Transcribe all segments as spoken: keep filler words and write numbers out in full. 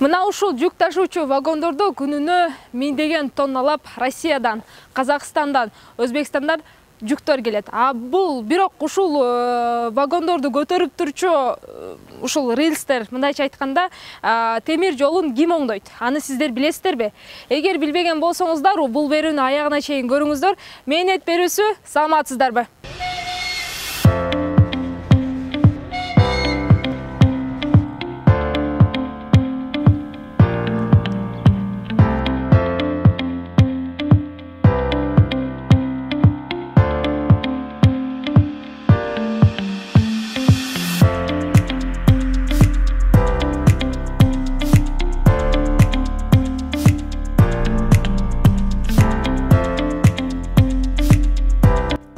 Мына ушул жүк ташуучу вагондордо күнүнө миңдеген тонналап Россиядан, Казакстандан, Өзбекстандан жүктөр келет. А бул бирок ушул вагондорду көтөрүп турчу ушул рельстер, мындайча айтканда, темир жолун ким оңдойт? Аны сиздер билесиздерби? Эгер билбеген болсоңуздар, бул берүүнү аягына чейин көрүңүздөр. Мээнет берүүсү, саламатсыздарбы?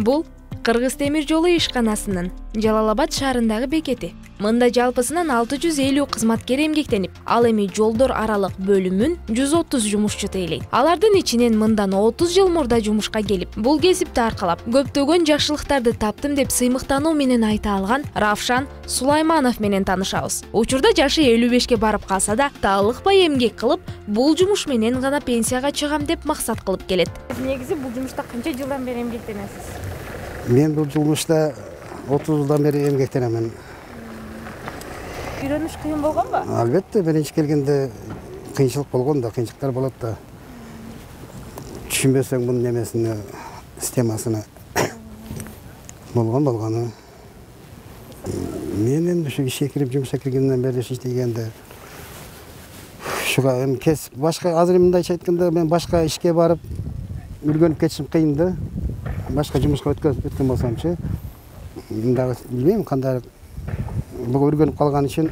Бул Кыргыз темир жолу ишканасынын Жалал-Абад шаарындагы бекети. Мында жалпысынан алты жүз элүү кызматкер эмгектенип, ал эми жолдор аралык бөлүмүн жүз отуз жумушчу тейлейт. Алардын ичинен мындан отуз жыл мурда жумушка келип, бул кесипти аркалап, көптөгөн жакшылыктарды таптым деп сыймыктануу менен айта алган Равшан Сулайманов менен таанышабыз. Учурда жашы элүү бешке барып калса да, таалыкпай эмгек кылып, бул жумуш менен гана пенсияга чыгам деп максат кылып келет. Негизи бул жумушта канча жылдан бери эмгектенесиз? Мен бул жумушта отуз жылдан бери эмгектенемин. Үйрөнүш кыйын болгонбу? Албетте, биринчи келгенде кыйынчылык болгон да, кыйынчылыктар болот да. Түшүнбөсөң бунун немесини, системасыны болгон болгону. Мен эми ушу ишке кирип, жумушка киргенден бери иштегенде ушуга эми кес башка азыр мындайча айтканда мен башка ишке барып үргөнүп кетишим кыйын да. Башка жумушка өткөн болсомчу, мындагы билбейм кандай буга үргөнүп калган үчүн.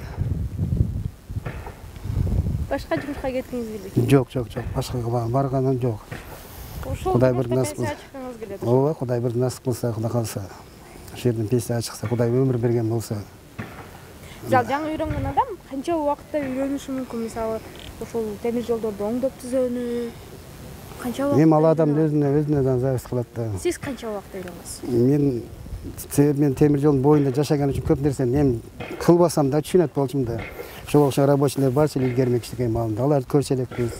Башка жумушка кеткиңиз келбейт? Жок, жок, жок. Башкага барганым жок. Кудай бир насып кылса, чыккыңыз келет. Ооба, Кудай бир насып кылса, Кудай калса, ошол жерден пенсияга чыкса, Кудай өмүр берген болсо. Жал жаңы үйрөнгөн адам канча убакытта үйрөнүшү мүмкүн? Мисалы, ошол темир жолдорду оңдоп түзүүнү канча убакытта? Эми ал адам өзүнө өзүнөн зависит кылат да. Сиз канча убакытта үйрөнгөнсүз? Мен мен темир жолдун боюнда жашаган үчүн көп нерсени эми кылбасам да түшүнөт болчумун да. Ошого окшогон рабочийлер барчу илгермек иштеген маалында, аларды көрчү элекпиз.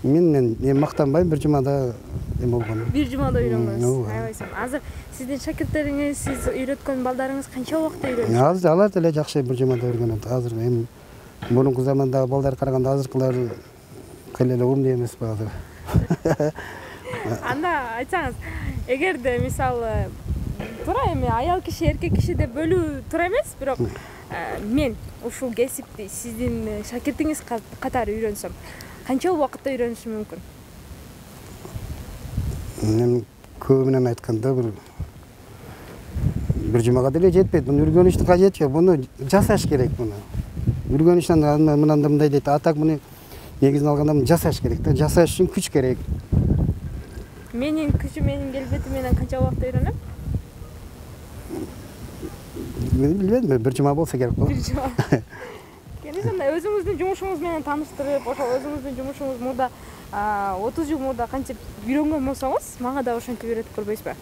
Мен мен эми мактанбайм, бир жумада эме болгон. Бир жумада үйрөнгөнсүз. Айбайсың. Азыр сиздин шакирттериңиз, сиз үйрөткөн балдарыңыз канча убакытта үйрөнүшөт? Азыр алар деле жакшы бир жумада үйрөнөт. Азыр эми мурунку замандагы балдар караганда азыркылар кыйла эле умдуу эмеспи азыр. Анда айтсаңыз, эгерде мисалы туура эми аял киши, эркек киши деп бөлүү туура эмес, бирок мен ушул кесипти сиздин шакиртиңиз катары үйрөнсөм, канча убакытта үйрөнүшүм мүмкүн? Мен көбү менен айтканда бир бир жумага деле жетпейт. Муну үргөнүштүн кажети жок. Муну жасаш керек муну. Үргөнүштөн мындан да мындай дейт. А так муну негизин алганда жасаш керек да. Жасаш үчүн күч керек. Менин күчүм менин келбетим менен канча убакытта үйрөнөм? Мен билбейм, бир жума болсо керек го. Бир жума. Келесинде өзүңүздүн жумушуңуз менен тааныштырып, ошол өзүңүздүн жумушуңуз мурда отуз жыл мурда кантип үйрөнгөн болсоңуз, мага да ошентип үйрөтүп көрбөйсүзбү?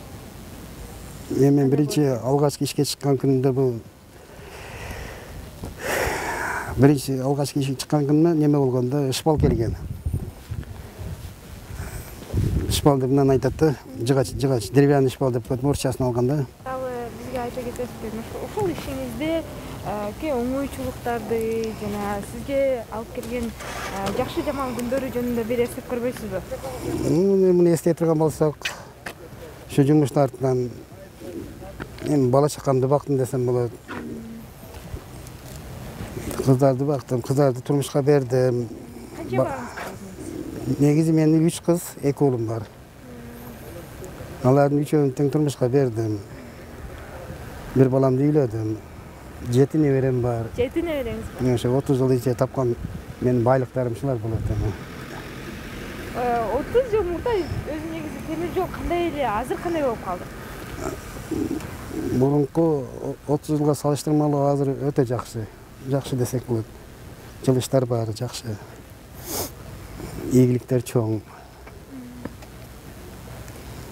Эми мен биринчи алгачкы ишке чыккан күнүмдө бул биринчи алгачкы ишке чыккан күнүмө неме болгондо ышпал келген. Ышпал деп мынаны айтат да, жыгач, жыгач, деревянный ышпал деп коет, мурчасын алганда. Бизге айта кетесизби, ошол ишиңизде ке оңойчулуктарды жана сизге алып келген жакшы жаман күндөрү жөнүндө бир эстеп көрбөйсүзбү? Муну эстей турган болсок, ушу жумуштун артынан эми бала чакамды бактым десем болот. Кыздарды бактым, кыздарды турмушка бердим. Канча балаңыз? Негизи менин үч кыз, эки уулум бар. Алардын үчөөнүн тең турмушка бердим. Бир баламды үйлөдүм. Жети неберем бар. Жети небереңиз бар? Ошо отуз жыл ичинде тапкан менин байлыктарым ушулар болот эми. отуз жыл мурда өзү негизи темир жол кандай эле, азыр кандай болуп калды? Мурунку отуз жылга салыштырмалуу азыр өтө жакшы. Жакшы десек болот. Жылыштар бар, жакшы. Ийгиликтер чоң.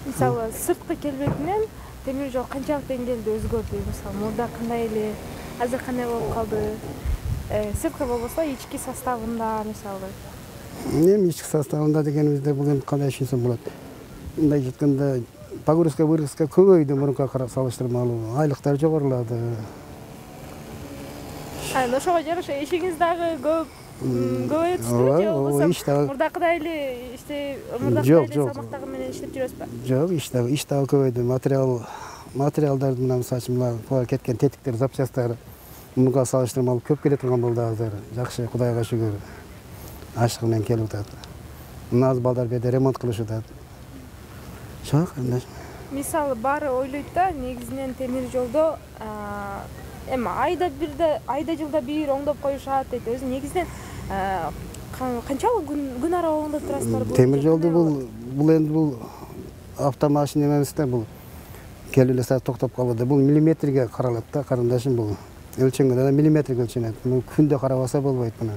Мисалы, сырткы келбетинен темир жол канчалык деңгээлде өзгөрдү? Мисалы, мурда кандай эле, азыр кандай болуп калды? сырткы болбосо ички составында мисалы. Эми ички составында дегенибизде бул эми кандай түшүнсөм болот. Мындай айтканда погрузка выргузка көбөйдү мурункуга салыштырмалуу. Айлыктар жогорулады. Аны ошого жараша ишиңиз дагы көп көбөйө түштүбү же болбосо мурдакыдай эле иште мурдакыдай эле салмактагы менен иштеп жүрөсүзбү? Жок, иш дагы иш дагы көбөйдү. Материал материалдарды мына мисалы үчүн мына кеткен тетиктер, запчасттар мурункуга салыштырмалуу көп келе турган болду азыр. Жакшы, Кудайга шүгүр. Ашык менен келип атат. Мына азыр балдар берде ремонт кылышып атат. Жок, эмне? Мисалы баары ойлойт да, негизинен темир жолдо эми айда бирде, айда жылда бир оңдоп коюшат дейт. Өзү негизинен канчалык күн ара оңдоп турасыздар бул? Темир жолду бул бул энди бул автомашина эмес да, бул келип эле саат токтоп калбайт. Бул миллиметрге каралат да, карындашым бул. Өлчөнгөндө да миллиметрге өлчөнөт. Бул күндө карабаса болбойт мына.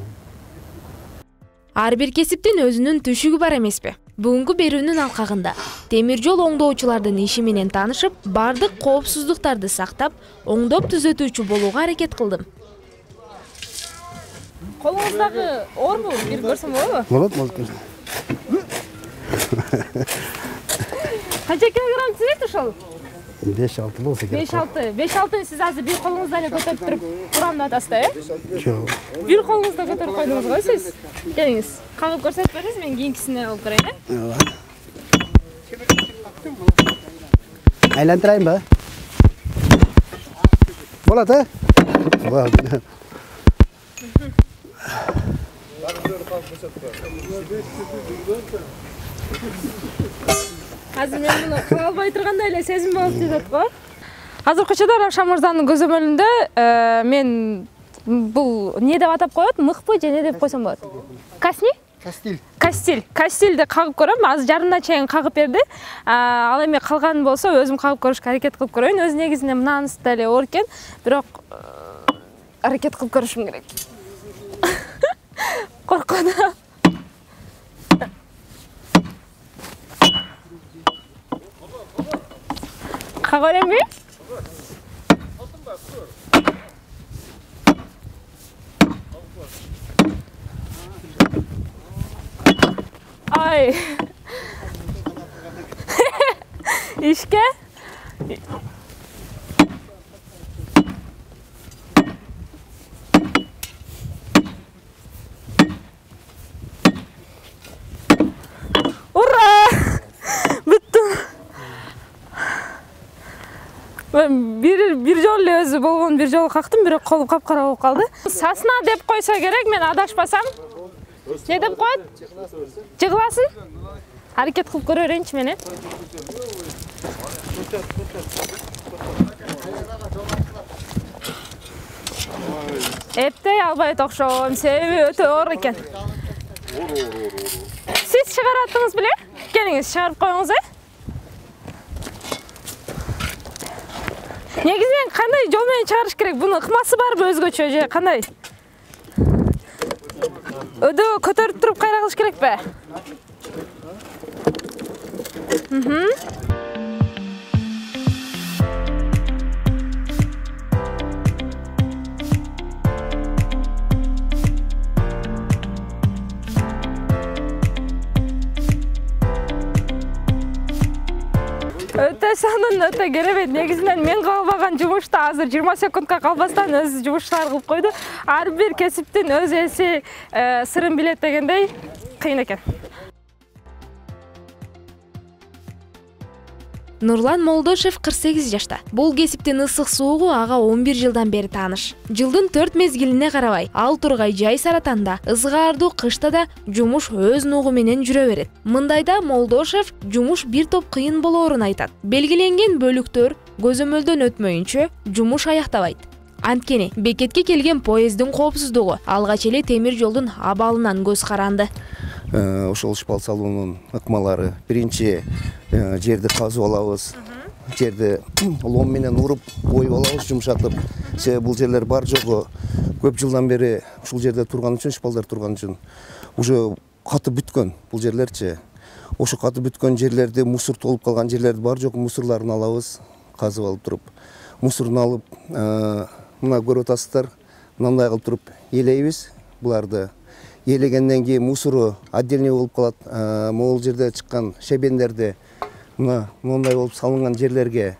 Ар бир кесиптин өзүнүн түшүгү бар эмеспи? Бүгүнкү берүүнүн алкагында темир жол оңдоочулардын иши менен таанышып, бардык коопсуздуктарды сактап, оңдоп түзөтүүчү болууга аракет кылдым. Колуңуздагы оорбу? Бир көрсөм болобу? Болот, болот. Канча килограмм түзөт ошол? беш алты болсо керек. беш алты. беш алтыны сиз азыр бир колуңузда эле көтөрүп туруп турам деп атасыз да, э? Жок. Бир колуңузда көтөрүп койдуңуз го сиз. Келиңиз. Кагып көрсөтүп бериңиз, мен кийинкисине алып көрөйүн, э? Ооба. Айлантырайынбы? Болот, э? Болот. Азыр мен муну кыла албай тургандай эле сезим болуп жатат го. Азыркы учурда Равшан мырзанын көзөмөлүндө мен бул эмне деп атап коет? Мыкпы же эмне деп койсом болот? Касни? Кастиль. Кастиль. Кастильди кагып көрөм. Азыр жарымына чейин кагып берди. Ал эми калганы болсо өзүм кагып көрүшкө аракет кылып көрөйүн. Өзү негизинен мынанысы да эле оор экен, бирок аракет кылып көрүшүм керек. Коркону. Кага беремби? Ай. Ишке? Ура! Бүттүм. Мен бир бир жолу эле өзү болгон бир жолу кактым, бирок колум капкара болуп калды. Сасна деп койсо керек, мен адашпасам. Не деп коет? Жыгыласын? Аракет кылып көрө берейинчи мен, э? Эптей албайт окшойм, себеби өтө оор экен. Сиз чыгараттыңыз беле? Келиңиз, чыгарып коюңуз, э? Негизинен кандай жол менен чыгарыш керек? Бунун ыкмасы барбы өзгөчө же кандай? Өдө көтөрүп туруп кайра кылыш керекпи? Мхм. Өтө сонун, өтө керемет. Негизинен мен калбаган жумушта азыр жыйырма секундка калбастан өз жумушчулар кылып койду. Ар бир кесиптин өз эси, сырын билет дегендей кыйын экен. Нурлан Молдошев кырк сегиз жашта. Бул кесиптин ысык суугу ага он бир жылдан бери тааныш. Жылдын төрт мезгилине карабай, ал тургай жай саратанда, ызгаардуу кышта да жумуш өз нугу менен жүрө берет. Мындайда Молдошев жумуш бир топ кыйын болоорун айтат. Белгиленген бөлүктөр көзөмөлдөн өтмөйүнчө жумуш аяктабайт. Анткени бекетке келген поезддин коопсуздугу алгач эле темир жолдун абалынан көз каранды. Ошол шпал салуунун ыкмалары биринчи жерди казып алабыз, жерди лом менен уруп оюп алабыз, жумшатып. Себеби бул жерлер бар жогу көп жылдан бери ушул жерде турган үчүн, шпалдар турган үчүн уже катып бүткөн бул жерлерчи. Ошо катып бүткөн жерлерди, мусор толуп калган жерлерди бар жогу мусорларын алабыз, казып алып туруп. Мусорун алып, мына көрүп атасыздар, мындай кылып туруп ээлейбиз. Буларды ээлегенден кийин мусору отдельный болуп калат. Могул жерде чыккан шебендерди мына мындай болуп салынган жерлерге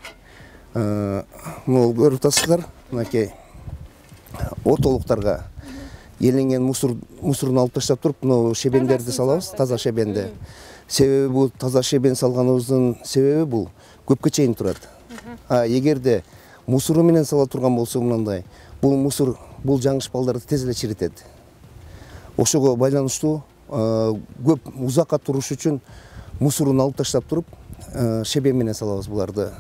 могул көрүп атасыздар. Мынакей ортолуктарга ээленген мусор мусорун алып таштап туруп, мына шебендерди салабыз, таза шебенди. Себеби бул таза шебен салганыбыздын себеби бул көпкө чейин турат. А эгерде мусору менен сала турган болсо мындай, бул мусор бул жаңыш балдарды тез эле чиритет. Ошого байланыштуу көп узакка туруш үчүн мусорун алып таштап туруп, шебен менен салабыз буларды.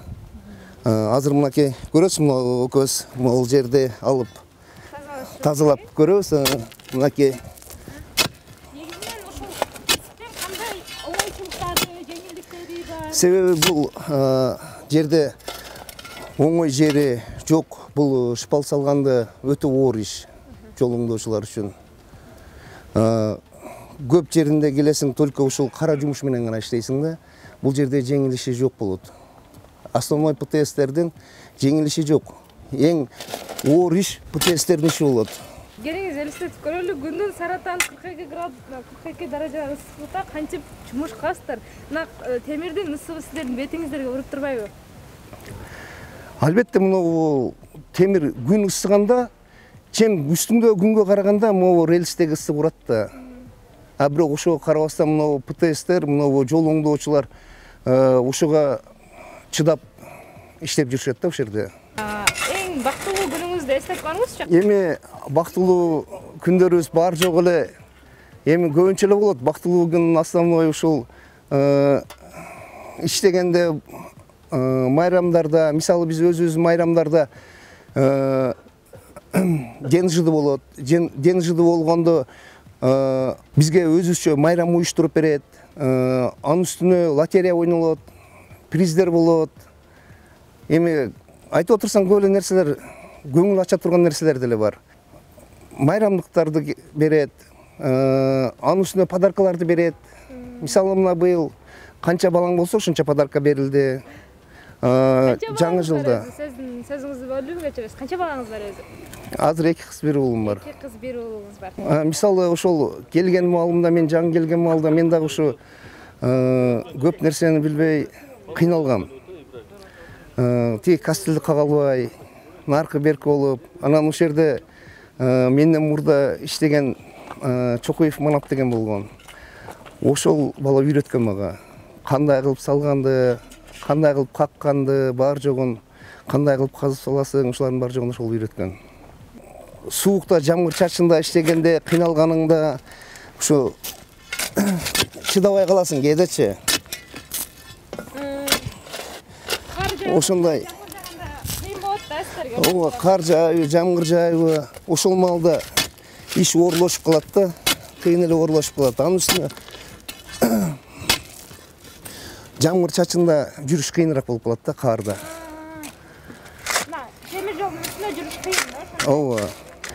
Азыр мынакей көрөсүз, мына экөөбүз могул жерди алып тазалап көрөбүз. Мынакей себеби бул жерде оңой жери жок. Бул шпал салганды өтө оор иш жол оңдоочулар үчүн. Көп жеринде келесиң, только ушул кара жумуш менен гана иштейсиң да. Бул жерде жеңил иши жок болот. Основной ПТСтердин жеңил иши жок. Эң оор иш ПТСтердин иши болот. Келиңиз элестетип көрөлү, күндүн саратан кырк эки градус, кырк эки даража ысыкта кантип жумуш кыласыздар? Мына темирдин ысыбы сиздердин бетиңиздерге уруп турбайбы? Албетте, мына темир күн ысыганда, чем үстүндө күнгө караганда могу рельстеги ысып урат да. А бирок ошого карабастан мына ПТСтер, мына жол оңдоочулар ошого чыдап иштеп жүрүшөт да ошол жерде. Эң бактылуу күнүңүздү эстеп коюңузчу. Эми бактылуу күндөрүбүз бар жок эле. Эми көбүнчө эле болот. Бактылуу күн основной ушул иштегенде майрамдарда, мисалы биз өзүбүз майрамдарда ден жыды болот. Ден жыды болгондо бизге өзүбүзчө майрам уюштуруп берет. Анын үстүнө лотерея ойнолот, приздер болот. Эми айтып отурсаң, көп эле нерселер, көңүл ача турган нерселер деле бар. Майрамдыктарды берет, анын үстүнө подаркаларды берет. Мисалы мына быйыл канча балаң болсо ошончо подарка берилди. Жаңы жылда. Сиздин сөзүңүздү бөлүп өтөбүз. Канча балаңыз бар өзү? Азыр эки кыз, бир уулум бар. Эки кыз, бир уулуңуз бар. Мисалы ошол келген маалымда, мен жаңы келген маалда мен дагы ушу көп нерсени билбей кыйналгам. Тиги кастелди кага албай, наркы берки болуп, анан ошол жерде менден мурда иштеген Чокуев Манап деген болгон. Ошол бала үйрөткөн мага. Кандай кылып салганды, кандай кылып какканды, бар жогун, кандай кылып казып саласың, ошолардын бар жогун ошол үйрөткөн. Суукта, жамгыр чачында иштегенде, кыйналганыңда ушу чыдабай каласың кээдечи. Ошондой кыйын болот да сиздерге. Ооба, кар жаайбы, жамгыр жаайбы, ошол маалда иш оорлошуп калат да, кыйын эле оорлошуп калат. Анын үстүнө жамгыр чачында жүрүш кыйыныраак болуп калат да, карда. Мына темир жолдун үстүндө жүрүш кыйын да. Ооба.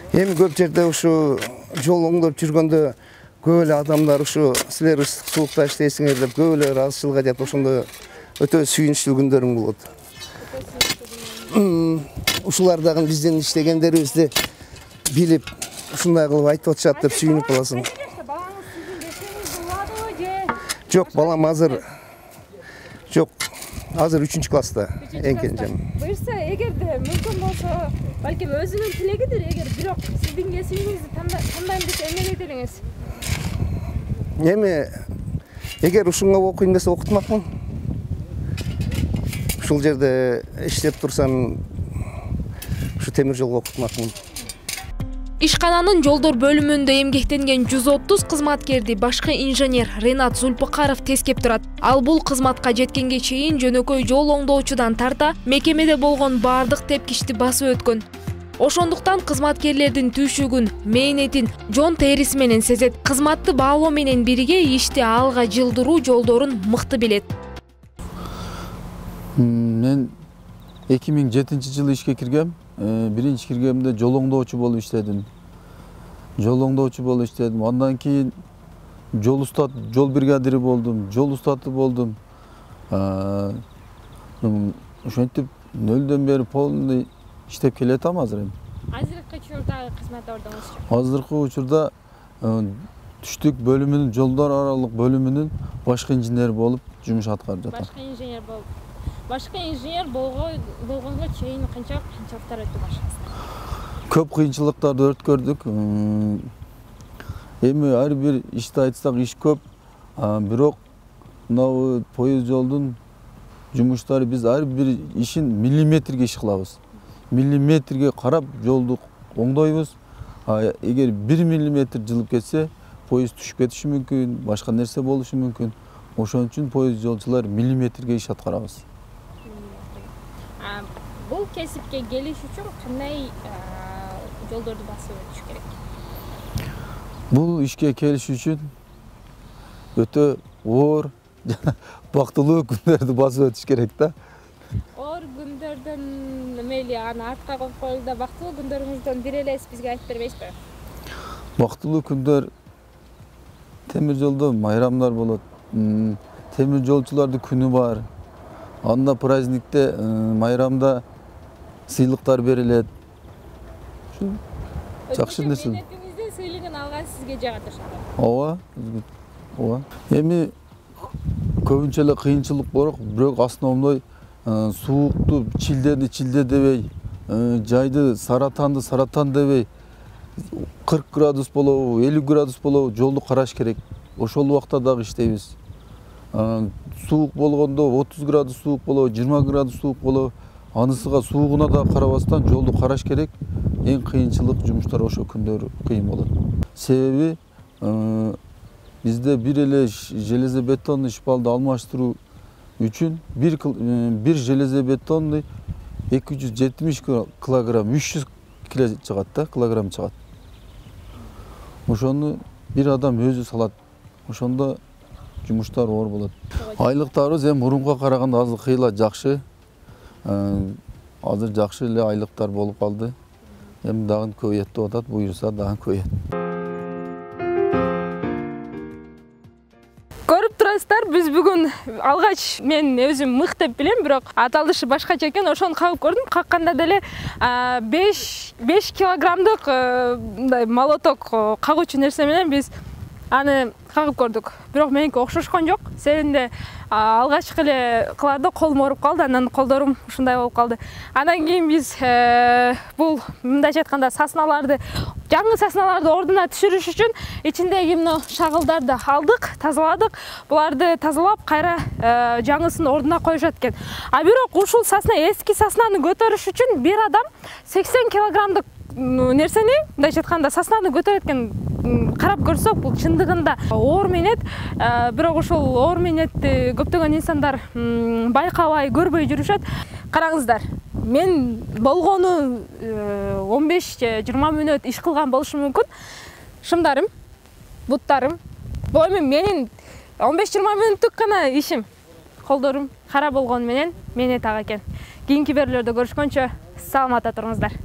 Эми көп жерде ушу жол оңдоп жүргөндө көп эле адамдар ушу силер ысык суукта иштейсиңер деп көп эле ыраазычылык айтат. Ошондо өтө сүйүнүчтүү күндөрүм болот. Ушулар дагы биздин иштегендерибизди билип, ушундай кылып айтып атышат деп сүйүнүп каласың. Балаңыз сиздин бешиңизди уладыбы же? Жок, балам азыр жок. Азыр үчүнчү класста, эң кенжем. Буюрса, эгерде мүмкүн болсо, балким өзүнүн тилегидир, эгер бирок сиздин кесибиңизди тандайм десе эмне дейт элеңиз? Эми эгер ушунга окуйм десе окутмакмын. Ушул жерде иштеп турсам, ушу темир жолго окутмакмын. Ишкананын жолдор бөлүмүндө эмгектенген жүз отуз кызматкерди башкы инженер Ренат Зульпыкаров тескеп турат. Ал бул кызматка жеткенге чейин жөнөкөй жол оңдоочудан тарта мекемеде болгон бардык тепкичти басып өткөн. Ошондуктан кызматкерлердин түйшүгүн, мээнетин жон териси менен сезет. Кызматты баалоо менен бирге ишти алга жылдыруу жолдорун мыкты билет. Мен эки миң жетинчи жылы ишке киргем. Биринчи киргемде жол оңдоочу болуп иштедим. Жол оңдоочу болуп иштедим. Андан кийин жол устат, жол бригадири болдум, жол устаты болдум. Ошентип нөлдөн бери полный иштеп келатам азыр эми. Азыркы учурдагы кызмат ордуңузчу? Азыркы учурда түштүк бөлүмүнүн, жолдор аралык бөлүмүнүн башкы инженери болуп жумуш аткарып жатам. Башкы инженер болуп. Башкы инженер болгонго чейин канча кыйынчылыктар өтүп башыңызда? Көп кыйынчылыктарды өткөрдүк. Эми ар бир ишти айтсак иш көп, бирок мына поезд жолдун жумуштары биз ар бир ишин миллиметрге иш кылабыз. Миллиметрге карап жолду оңдойбуз. Эгер бир миллиметр жылып кетсе, поезд түшүп кетиши мүмкүн, башка нерсе болушу мүмкүн. Ошон үчүн поезд жолчулар миллиметрге иш аткарабыз. Бул кесипке келиш үчүн кандай жолдорду басып өтүш керек? Бул ишке келиш үчүн өтө оор, бактылуу күндөрдү басып өтүш керек да. Оор күндөрдөн мейли аны артка коюп коелу да, бактылуу күндөрүңүздөн бир элес бизге айтып бербейсизби? Бактылуу күндөр темир жолдо майрамдар болот. Темир жолчулардын күнү бар. Анда праздникте, майрамда сыйлыктар берилет. Жакшы нерсе. Менетиңиздин сыйлыгын алган сизге жагат ошондо. Ооба, ооба. Эми көбүнчө эле кыйынчылык бирок, бирок основной суукту чилдени чилде дебей, жайды саратанды саратан дебей, кырк градус болобу, элүү градус болобу жолду караш керек. Ошол убакта дагы иштейбиз. Суук болгондо отуз градус суук болобу, жыйырма градус суук болобу, анысыга суугуна да карабастан жолду караш керек. Эң кыйынчылык жумуштар ошо күндөр кыйын болот. Себеби бизде бир эле железобетонный ишпалды алмаштыруу үчүн бир железобетонный эки жүз жетимиш килограмм, үч жүз кило чыгат да, килограмм чыгат. Ошону бир адам өзү салат. Ошондо жумуштар оор болот. Айлыктарыбыз эми мурунга караганда азыр кыйла жакшы. Азыр жакшы эле айлыктар болуп калды. Эми дагы көбөйөт деп атат, буюрса дагы көбөйөт. Көрүп турасыздар, биз бүгүн алгач мен өзүм мык деп билем, бирок аталышы башкача экен. Ошону кагып көрдүм. Какканда деле беш килограммдык мындай молоток кагуучу нерсе менен биз аны кагып көрдүк. Бирок меники окшошкон жок. Себебинде алгачкы эле кыларда колум ооруп калды, анан колдорум ушундай болуп калды. Андан кийин биз бул мындайча айтканда сасналарды, жаңы сасналарды ордуна түшүрүш үчүн ичиндеги мына шагылдарды алдык, тазаладык. Буларды тазалап, кайра жаңысын ордуна коюшат экен. А бирок ушул сасна, эски саснаны көтөрүш үчүн бир адам сексен килограммдык нерсени, мындайча айтканда саснаны көтөрөт экен. Карап көрсөк, бул чындыгында оор менет, бирок ошол оор менетти көптөгөн инсандар байкабай, көрбөй жүрүшөт. Караңыздар, мен болгону он беш жыйырма мүнөт иш кылган болушум мүмкүн. Шымдарым, буттарым, бул эми менин он беш жыйырма мүнөттүк гана ишим. Колдорум кара болгону менен менет ага экен. Кийинки берүүлөрдө көрүшкөнчө саламатта туруңуздар.